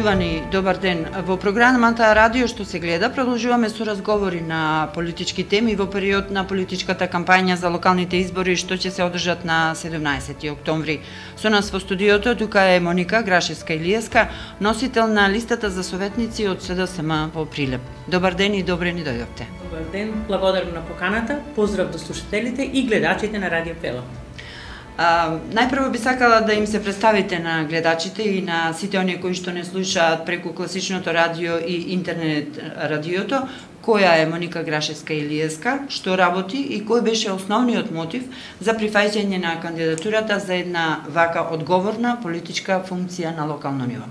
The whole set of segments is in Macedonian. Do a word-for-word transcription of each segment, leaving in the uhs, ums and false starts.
Почитувани, добар ден. Во програмата Радио што се гледа продолжуваме со разговори на политички теми во период на политичката кампања за локалните избори што ќе се одржат на седумнаесети октомври. Со нас во студиото тука е Моника Грашевска-Илиевска, носител на листата за советници од СДСМ во Прилеп. Добар ден и добре ни дојдовте. Добар ден, благодарам на поканата, поздрав до слушателите и гледачите на Радио Пела. А, најпрво би сакала да им се представите на гледачите и на сите оние кои што не слушаат преку класичното радио и интернет радиото, која е Моника Грашевска-Илиевска, што работи и кој беше основниот мотив за прифаќање на кандидатурата за една вака одговорна политичка функција на локално ниво.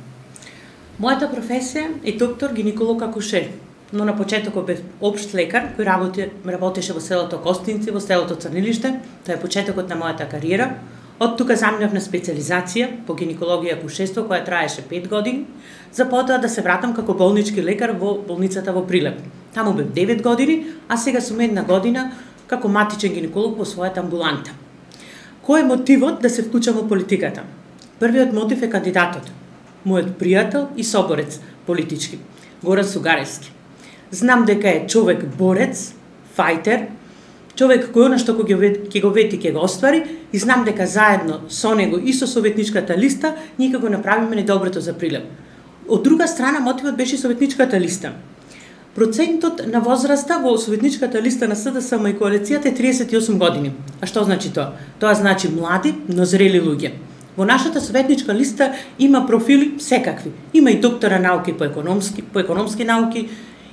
Мојата професија е доктор гинеколог акушер, но на почетокот бев општ лекар кој работи, работеше во селото Костинци, во селото Црнилиште. Тоа е почетокот на мојата кариера. Од тука заминав на специализација по гинекологија и акушерство која траеше пет години, за потоа да се вратам како болнички лекар во болницата во Прилеп. Таму бев девет години, а сега сум една година како матичен гинеколог во својата амбуланта. Кој е мотивот да се вклучам во политиката? Првиот мотив е кандидатот, мојот пријател и соборец политички, Горан Сугаревски. Знам дека е човек борец, фајтер, човек кој она што ќе го вети ќе го оствари и знам дека заедно со него и со советничката листа ние ќе го направиме најдоброто за Прилеп. Од друга страна мотивот беше советничката листа. Процентот на возраста во советничката листа на СДСМ и коалицијата е триесет и осум години. А што значи тоа? Тоа значи млади, но зрели луѓе. Во нашата советничка листа има профили секакви. Има и доктора науки по економски, по економски науки,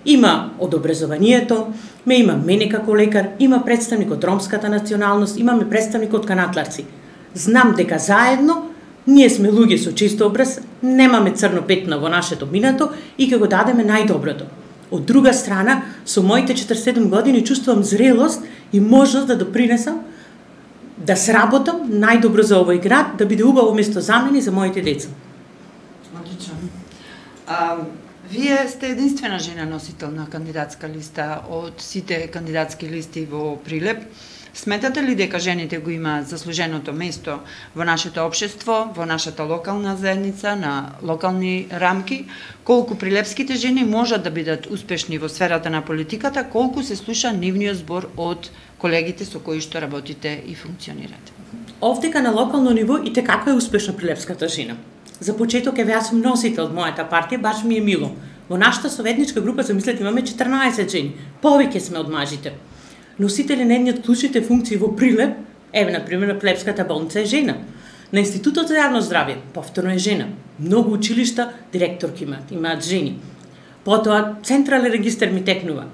има од образованието, ме има мене како лекар, има представник од ромската националност, имаме представник од канатларци. Знам дека заедно ние сме луѓе со чист образ, немаме црно петно во нашето минато и ќе го дадеме најдоброто. Од друга страна, со моите четиридесет и седум години чувствувам зрелост и можност да допринесам да сработам најдобро за овој град, да биде убаво место за мене и за моите деца. Одлично. А, вие сте единствена жена носител на кандидатска листа од сите кандидатски листи во Прилеп. Сметате ли дека жените го имаат заслуженото место во нашето општество, во нашата локална заедница, на локални рамки? Колку прилепските жени можат да бидат успешни во сферата на политиката, колку се слуша нивниот збор од колегите со кои што работите и функционирате? Овдека на локално ниво и те како е успешна прилепската жена. За почеток е јас сум носител од мојата партија, баш ми е мило. Во нашата советничка група, замислете, имаме четрнаесет жени. Повеќе сме од мажите. Носители на едни од клучните функции во Прилеп, еве, например, на Плебската болница е жена. На Институтот за јавно здравје, повторно е жена. Многу училишта директорки имаат, имаат жени. Потоа, Централен регистар ми текнува.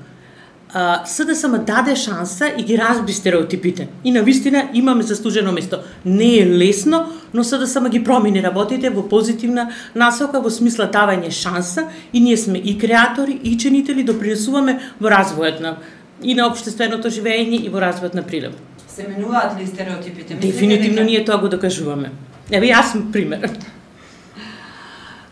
СДСМ даде шанса и ги разби стереотипите. И навистина имаме заслужено место. Не е лесно, но СДСМ ги промени работите во позитивна насока, во смисла давање шанса и ние сме и креатори, и чинители, допринесуваме во развојот на и на општественото живење и во развојот на Прилеп. Се менуваат ли стереотипите? Дефинитивно ние тоа го докажуваме. Еве јас сум пример.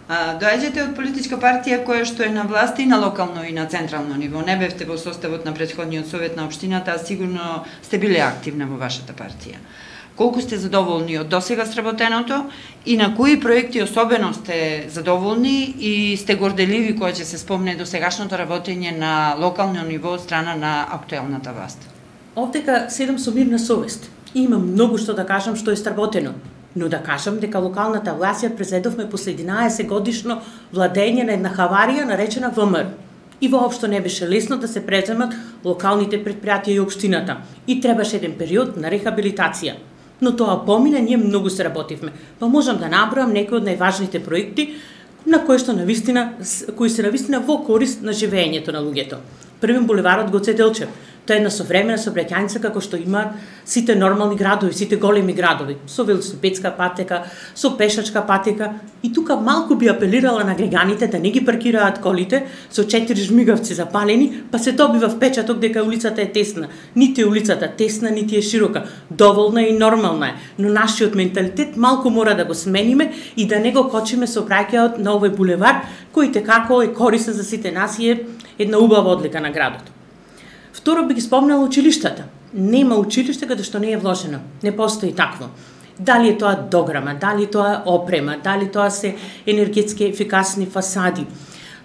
А, доаѓате од политичка партија која што е на власт и на локално и на централно ниво. Не бевте во составот на претходниот совет на општината, а сигурно сте биле активна во вашата партија. Колку сте задоволни од досега сработеното и на кои проекти особено сте задоволни и сте горделиви кога ќе се спомне до сегашното работење на локално ниво од страна на актуелната власт? Овдека седам со мирна совест и имам многу што да кажам што е сработено. Но да кажам дека локалната власт ја презедовме после единаесет годишно владење на една хаварија наречена ВМРО. И воопшто не беше лесно да се преземат локалните предпријатија и општината. И требаше еден период на рехабилитација. Но тоа помина, ние многу се работивме. Па можам да наброам некои од најважните проекти на кои што навистина, кои се навистина во корист на живењето на луѓето. Првен булеварот Гоце Делчев. Тоа е една современа сообраќајница како што имаат сите нормални градови, сите големи градови, со велосипедска патека, со пешачка патека. И тука малку би апелирала на граѓаните да не ги паркираат колите со четири жмигавци запалени, па се добива впечаток дека улицата е тесна. Нити е улицата тесна, нити е широка. Доволна и нормална е, но нашиот менталитет малку мора да го смениме и да не го кочиме сообраќајот на овој булевар, кој како е корисен за сите нас и е една убава одлика на градот. Второ би ги спомнала училиштата. Нема училиште каде што не е вложено. Не постои такво. Дали е тоа дограма, дали тоа опрема, дали тоа се енергетски ефикасни фасади,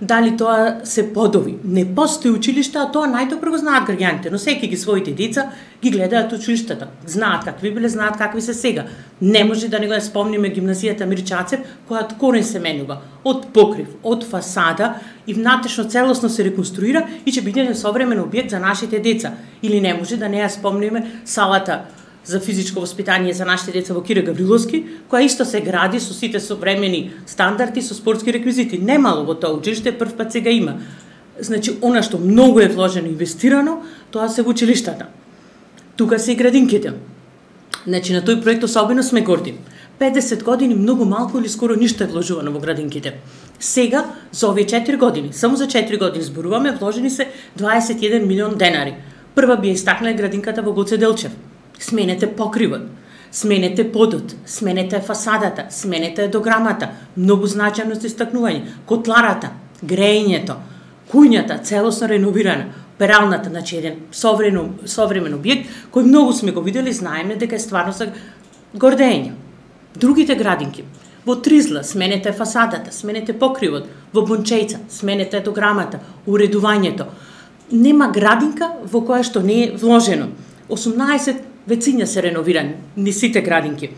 дали тоа се подови. Не постои училиште, а тоа најдобро го знаат граѓаните, но секи ги своите деца ги гледаат училиштата. Знаат какви биле, знаат какви се сега. Не може да не го спомниме гимназијата Мирчацев, која од корен се менува, од покрив, од фасада и внатрешно целосно се реконструира и ќе биде современ објект за нашите деца. Или не може да не ја спомниме салата за физичко воспитание за нашите деца во Кире Гавриловски, која исто се гради со сите современи стандарди, со спортски реквизити. Немало во тоа училиште, прв пат сега има. Значи, она што многу е вложено и инвестирано, тоа се во училиштата. Тука се и градинките. Значи, на тој проект особено сме горди. педесет години многу малку или скоро ништо е вложувано во градинките. Сега, за овие четири години, само за четири години зборуваме, вложени се дваесет и еден милион денари. Прва би ја истакнала градинката во Гоце Делчев. Сменете покривот, сменете подот, сменете фасадата, сменете дограмата, многу значајно за истакнување, котларата, грејењето, кујњата целосно реновирана, пералната, значи еден современ, современ објект кој многу сме го видели, знаеме дека е стварно за гордење. Другите градинки, во Тризла сменете фасадата, сменете покривот, во Бончејца сменете дограмата, уредувањето. Нема градинка во која што не е вложено. осумнаесет вециња се реновирани, ни сите градинки.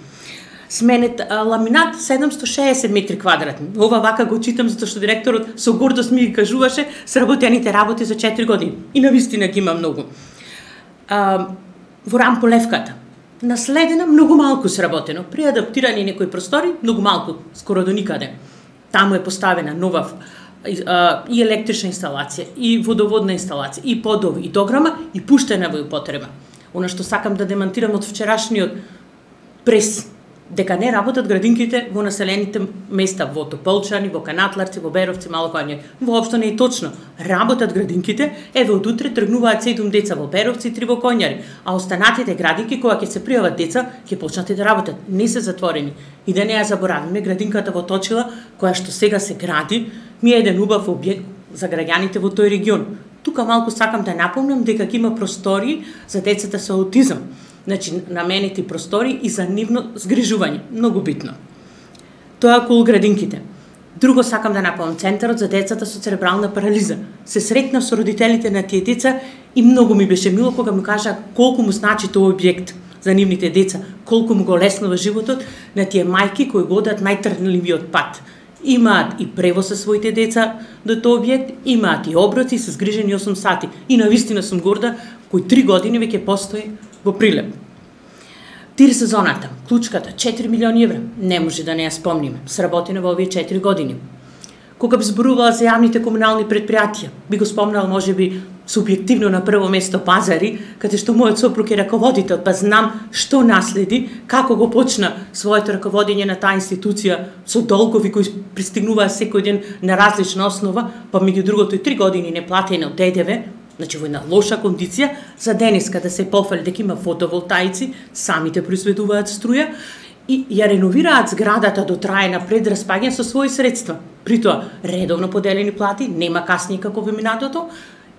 Сменет а, ламинат седумсто шеесет метри квадратни. Ова вака го читам затоа што директорот со гордост ми ги кажуваше сработените работи за четири години. И навистина ги има многу. А, во Рамполевката наследена многу малку сработено. При адаптирани некои простори многу малку, скоро до никаде. Таму е поставена нова а, и електрична инсталација, и водоводна инсталација, и подови, и дограма, и пуштена во употреба. Она што сакам да демантирам од вчерашниот прес, дека не работат градинките во населените места, во Тополчани, во Канатларци, во Беровци, Малокање. Воопшто не е точно. Работат градинките, еве од утре тргнуваат седум деца во Беровци и три во Коњари, а останатите градинки кога ќе се пријават деца, ќе почнат и да работат. Не се затворени. И да не ја заборавиме, градинката во Точила, која што сега се гради, ми е еден убав објект за граѓаните во тој регион. Тука малку сакам да напомнам дека ќе има простори за децата со аутизам. Значи, наменети простори и за нивно згрижување. Многу битно. Тоа околу градинките. Друго сакам да напомнам, Центарот за децата со церебрална парализа. Се сретнав со родителите на тие деца и многу ми беше мило кога ми кажа колку му значи тој објект за нивните деца, колку му го леснува животот на тие мајки кои го одат најтрнливиот пат. Имаат и превоз со своите деца до тој објект, имаат и оброци со згрижени осум сати. И навистина сум горда кој три години веќе постои во Прилеп. Тир сезоната, клучката, четири милиони евра, не може да не ја спомниме, сработена во овие четири години. Кога би зборувала за јавните комунални предпријатија, би го спомнала можеби субјективно на прво место Пазари, каде што мојот сопруг е раководител, па знам што наследи, како го почна своето раководење на таа институција со долгови кои пристигнуваа секој ден на различна основа, па меѓу другото и три години неплатено Д Д В, значи во една лоша кондиција, за денеска да се пофали дека има фотоволтаици, самите произведуваат струја и ја реновираат зградата до трајна пред распаѓање со своји средства. При тоа редовно поделени плати, нема касни како во минатото,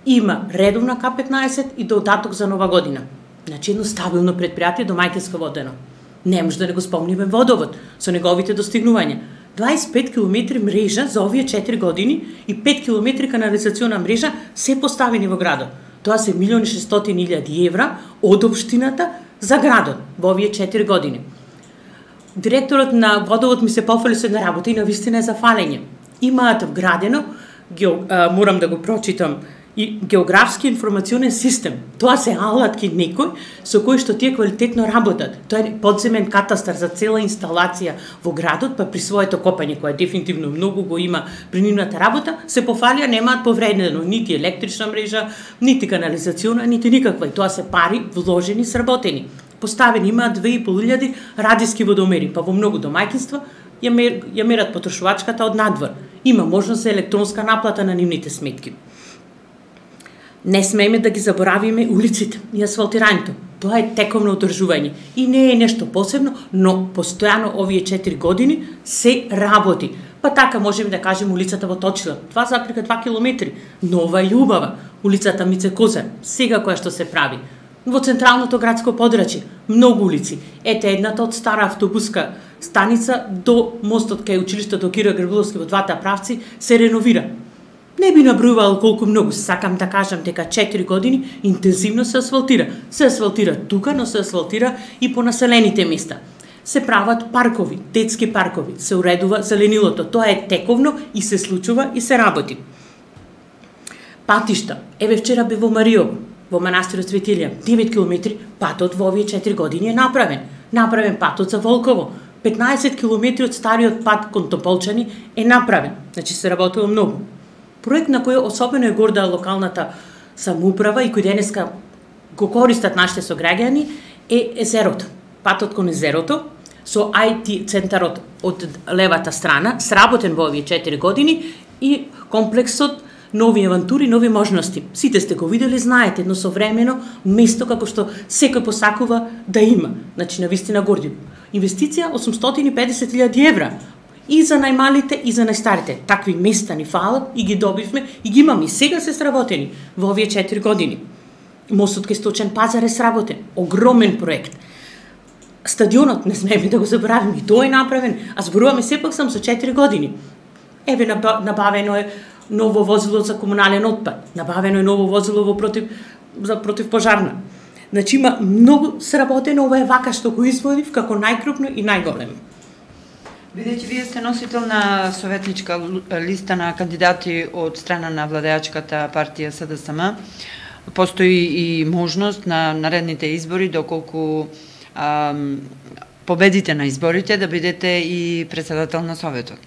има редовна К петнаесет и додаток за нова година. Значи едно стабилно предпријатие домаќинско водено. Не може да не го спомниме водовод со неговите достигнувања. дваесет и пет километри мрежа за овие четири години и пет километри канализациона мрежа се поставени во градот. Тоа се милион и шестстотини илјади евра од општината за градот во овие четири години. Директорот на водовод ми се пофали со една работа и навистина е за фалење. Имаат вградено, гео, а, морам да го прочитам, и географски информационен систем. Тоа се алатки некој со кој што тие квалитетно работат. Тоа е подземен катастар за цела инсталација во градот, па при своето копање, кое дефинитивно многу го има при нивната работа, се пофалија, немаат повредено нити електрична мрежа, нити канализациона, нити никаква. И тоа се пари вложени, сработени. Поставени имаат две и пол илјади радиски водомери, па во многу домаќинства ја, мер, ја мерат потрошувачката од надвор. Има можност за електронска наплата на нивните сметки. Не смееме да ги заборавиме улиците и асфалтирањето. Тоа е тековно одржување и не е нешто посебно, но постојано овие четири години се работи. Па така можеме да кажеме улицата во Точила, два запрека два километри, нова и убава. Улицата Мице Козар, сега која што се прави. Во централното градско подрачје, многу улици. Ете едната од стара автобуска станица до мостот кај училиштето Киро Грабиловски во двата правци се реновира. Не би набројувал колку многу, сакам да кажам дека четири години интензивно се асфалтира. Се асфалтира тука, но се асфалтира и по населените места. Се прават паркови, детски паркови, се уредува зеленилото. Тоа е тековно и се случува и се работи. Патишта. Еве вчера бе во Мариово, во манастирот Свети Илија, девет километри, патот во овие четири години е направен. Направен патот за Волково. петнаесет километри од стариот пат кон Тополчани е направен. Значи се работува многу. Проект на кој особено е горда локалната самоуправа и кој денеска го користат нашите сограѓани е езерото. Патот кон езерото со ај ти центарот од левата страна, сработен во овие четири години и комплексот нови авантури, нови можности. Сите сте го видели, знаете, но современо место како што секој посакува да има. Значи, навистина горди. Инвестиција осумстотини и педесет илјади евра. И за најмалите, и за најстарите. Такви места ни фалат и ги добивме, и ги имаме. И сега се сработени во овие четири години. Мостот кај Сточен пазар е сработен. Огромен проект. Стадионот, не смееме да го забравиме, и тој е направен, а зборуваме сепак сам со четири години. Еве, набавено е ново возило за комунален отпад, набавено е ново возило во против, за противпожарна. Значи има многу сработено, ова е вака што го изводив како најкрупно и најголемо. Бидејќи вие сте носител на советничка листа на кандидати од страна на владеачката партија С Д С М, постои и можност на наредните избори, доколку ам, победите на изборите, да бидете и председател на Советот.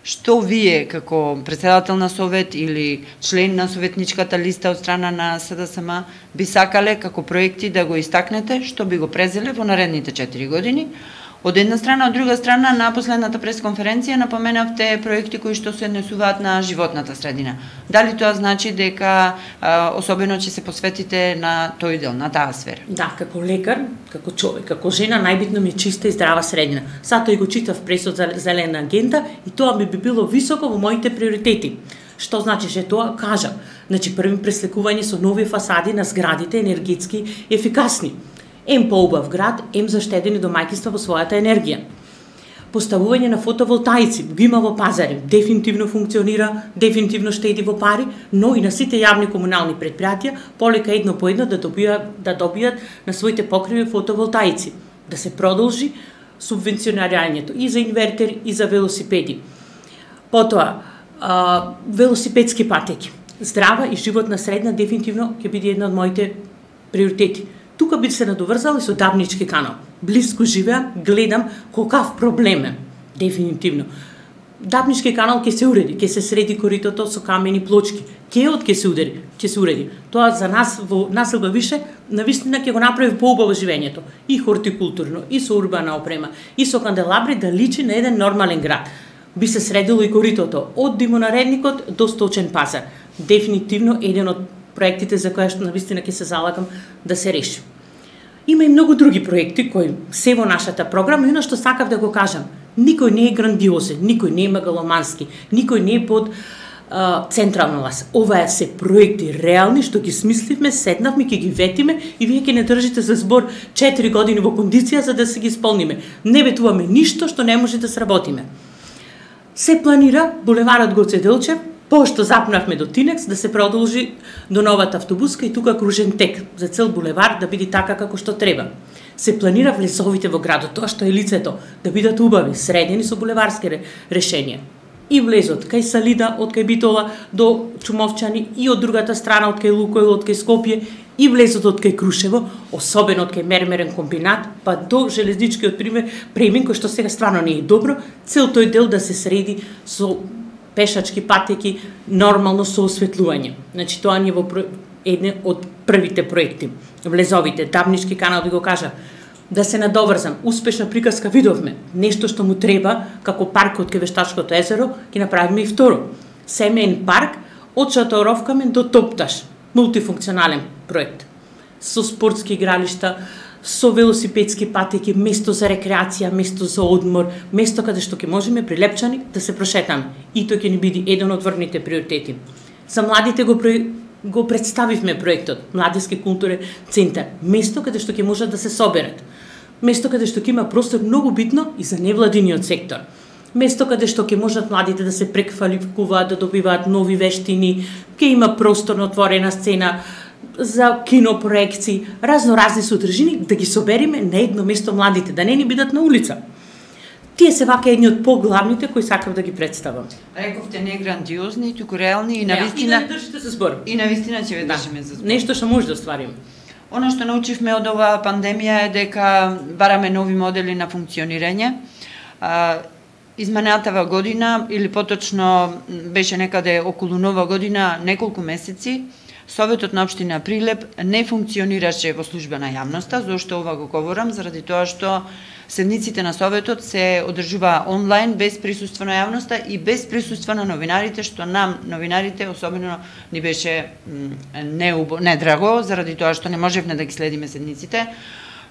Што вие, како председател на Совет или член на советничката листа од страна на С Д С М, би сакале како проекти да го истакнете, што би го презеле во наредните четири години? Од една страна, од друга страна, на последната пресконференција напоменавте проекти кои што се однесуваат на животната средина. Дали тоа значи дека а, особено ќе се посветите на тој дел, на таа сфера? Да, како лекар, како човек, како жена, најбитно ми е чиста и здрава средина. Сато и го читав пресот за зелена агенда и тоа ми би било високо во моите приоритети. Што значише тоа? Кажа. Значи, први преслекување со нови фасади на зградите енергетски ефикасни. Ем поубав град, ем заштедени домаќинства во својата енергија. Поставување на фотоволтаици, го има во пазари, дефинитивно функционира, дефинитивно штеди во пари, но и на сите јавни комунални предпријатија полека едно по едно да добијат, да добијат на своите покриви фотоволтаици. Да се продолжи субвенционирањето и за инвертери и за велосипеди. Потоа, а, велосипедски патеки. Здрава и животна средна дефинитивно ќе биде една од моите приоритети. Тука би се надоврзал и со Дабнички канал. Блиску живеам, гледам колкав проблем е. Дефинитивно. Дабнички канал ќе се уреди, ќе се среди коритото со камени плочки. Кеот ќе се уреди, ќе се уреди. Тоа за нас во населба Више навистина ќе го направи поубаво живењето. И хортикултурно, и со урбана опрема, и со канделабри да личи на еден нормален град. Би се средило и коритото од Димонаредникот до Сточен пазар. Дефинитивно еден од проектите за која што навистина ќе се залагам да се реши. Има и многу други проекти кои се во нашата програма, и оно што сакав да го кажам, никој не е грандиозен, никој не е мегаломански, никој не е под а, централна власт. Ова се проекти реални што ги смисливме, седнавме, ќе ги ветиме и вие ќе не држите за збор четири години во кондиција за да се ги исполниме. Не ветуваме ништо што не може да сработиме. Се планира булеварот Гоце Делчев, пошто запнавме до Тинекс, да се продолжи до новата автобуска и тука кружен тек, за цел булевар да биде така како што треба. Се планира влезовите во градот, тоа што е лицето, да бидат убави, средени со булеварски решенија. И влезот кај Салида, од кај Битола до Чумовчани, и од другата страна од кај Лукойл, од кај Скопје, и влезот од кај Крушево, особено од кај Мермерен комбинат, па до железничкиот пример премин, кој што сега стварно не е добро, цел тој дел да се среди со пешачки патеки, нормално со осветлување. Значи, тоа ни е во еден од првите проекти. Влезовите, Дабнички канал, би го кажа, да се надоврзам, успешна приказка видовме, нешто што му треба, како паркот кај Вештачкото езеро, ќе направиме и второ. Семеен парк, од Шаторовкамен до Топташ, мултифункционален проект. Со спортски игралишта, со велосипедски патеки, место за рекреација, место за одмор, место каде што ќе можеме прилепчани да се прошетаме. И тој ќе ни биде еден од врвните приоритети. За младите го го представивме проектот Младински културен центар, место каде што ќе можат да се соберат, место каде што ќе има простор многу битно и за невладиниот сектор, место каде што ќе можат младите да се преквалификуваат, да добиваат нови вештини, ќе има просторно отворена сцена за кинопроекции, разно разни содржини, да ги собериме на едно место младите, да не ни бидат на улица. Тие се вака едни од поглавните кои сакам да ги представам. Рековте не грандиозни, туку реални и Да, навистина. и да држите за збор. И навистина ќе ве држиме за збор. Нешто што може да оствариме. Оно што научивме од оваа пандемија е дека бараме нови модели на функционирање. А, изминатава година, или поточно беше некаде околу нова година, неколку месеци, Советот на општина Прилеп не функционираше во служба на јавноста. Зошто ова го говорам? Заради тоа што седниците на Советот се одржува онлайн, без присуство на јавноста и без присуство на новинарите, што нам, новинарите, особено ни беше неубо, недраго, заради тоа што не можевме да ги следиме седниците.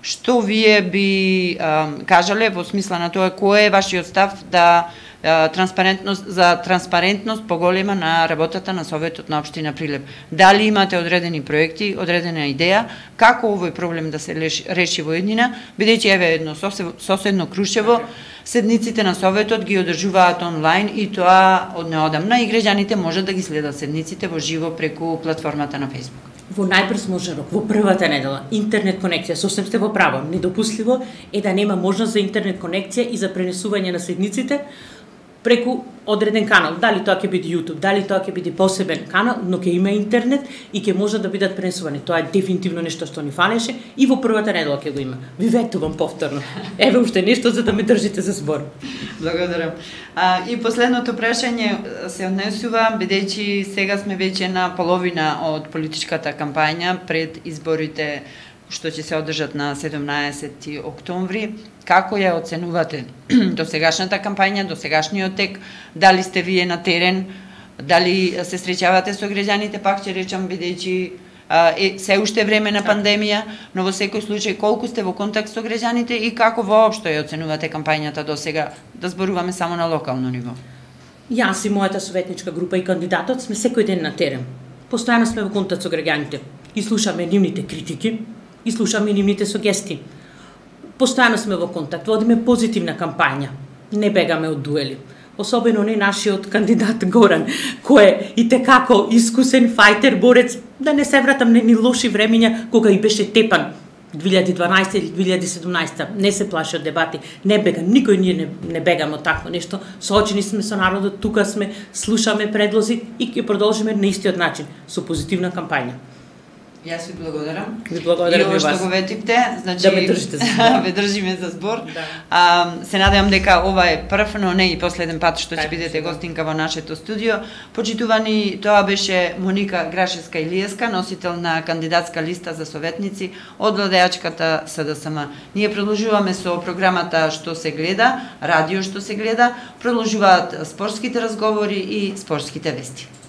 Што вие би а, кажале во смисла на тоа кој е вашиот став да а, транспарентност за транспарентност поголема на работата на Советот на општина Прилеп? Дали имате одредени проекти, одредена идеја како овој проблем да се реши во еднина, бидејќи еве едно соседно Крушево седниците на Советот ги одржуваат онлайн и тоа од неодамна и граѓаните можат да ги следат седниците во живо преку платформата на Facebook. Во најбрз можен рок, во првата недела, интернет конекција, сосем сте во право. Недопустливо е да нема можност за интернет конекција и за пренесување на седниците преку одреден канал. Дали тоа ќе биде YouTube, дали тоа ќе биде посебен канал, но ќе има интернет и ќе може да бидат пренесувани. Тоа е дефинитивно нешто што ни фалеше и во првата недела ќе го има. Ви ветувам повторно. Еве уште нешто за да ме држите за збор. Благодарам. А, и последното прашање се однесува, бидејќи сега сме веќе на половина од политичката кампања пред изборите што ќе се одржат на седумнаесети октомври. Како ја оценувате досегашната кампања, досегашниот тек? Дали сте вие на терен? Дали се среќавате со граѓаните? Пак ќе речам, бидејќи е се уште време на пандемија, но во секој случај колку сте во контакт со граѓаните и како воопшто ја оценувате кампањата до сега? Да зборуваме само на локално ниво. Јас и мојата советничка група и кандидатот сме секој ден на терен. Постојано сме во контакт со граѓаните и слушаме нивните критики, и слушаме нивните сугестии. Постојано сме во контакт, водиме позитивна кампања, не бегаме од дуели. Особено не нашиот кандидат Горан, кој е и текако искусен фајтер, борец, да не се вратам на ни лоши времења кога и беше тепан две илјади и дванаесета или две илјади и седумнаесета. Не се плаши од дебати, не бега, никој ние не, не бегаме од такво нешто. Соочени сме со народот, тука сме, слушаме предлози и ќе продолжиме на истиот начин, со позитивна кампања. Јас ви благодарам. Ви благодарам и и вас. Што го ветивте, значи да ме држите за збор. Ве држиме за збор. Да. А, се надевам дека ова е прв, но не и последен пат што ќе бидете да. гостинка во нашето студио. Почитувани, тоа беше Моника Грашевска-Илиевска, носител на кандидатска листа за советници од владеачката С Д С М. Ние продолжуваме со програмата Што се гледа, радио Што се гледа, продолжуваат спортските разговори и спортските вести.